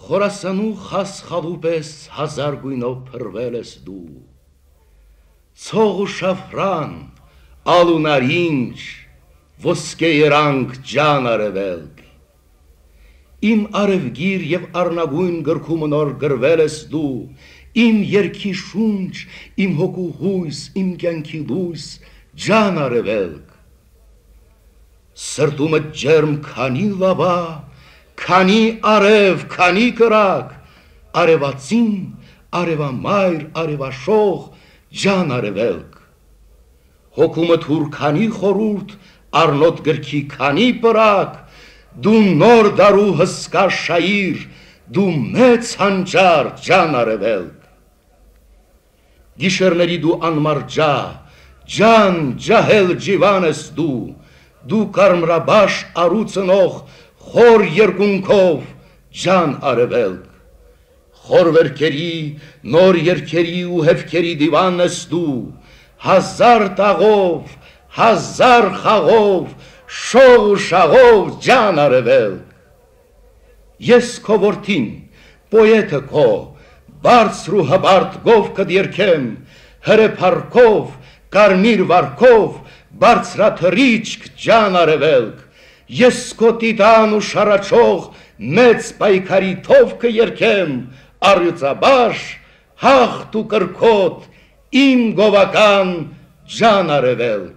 Խորասանու խասխալու պես հազար գույնով փրվել ես դու, ցող ու շաֆրան, ալ ու նարինջ, ոսկե երանք ջան արևելք, իմ արևգիր և առնագույն գրքումը նոր գրվել ես դու, իմ երգի շունչ, իմ հոգու հույս, իմ կյանքի լույս, ջան արևելք, սրտումը ջերմ քանի լավա, քանի արև, քանի կրակ, արևածին, արևամայր, արևաշող, ջան արևելք, հոգումը թուր քանի խորուրդ, առնոտ գրքի քանի պրակ, դու նոր դարու հսկա շայիր, դու մեծ հանճար, ջան արևելք, գիշերների դու անմարջա, ջան, ջահել ջիվան ես դու կարմրաբաշ արու ծնող, խոր երկունքով, ջան արևելք, խոր վերքերի, նոր երքերի ու հևքերի դիվան ես դու, հազար տաղով, հազար խաղով, շող ու շաղով, ջան արևելք, ես քո որդին, պոետը քո, բարձր ու հբարդ գովքդ երգեմ, հրեփառքով, կարմիր վարքով, բարձրաթռիչք, ջան արևելք, ես քո տիտան ու շարաչող մեծ պայքարի թովքը երգեմ, առյուծաբաշ, հաղթ ու կրքոտ, իմ գովական, ջան արևելք,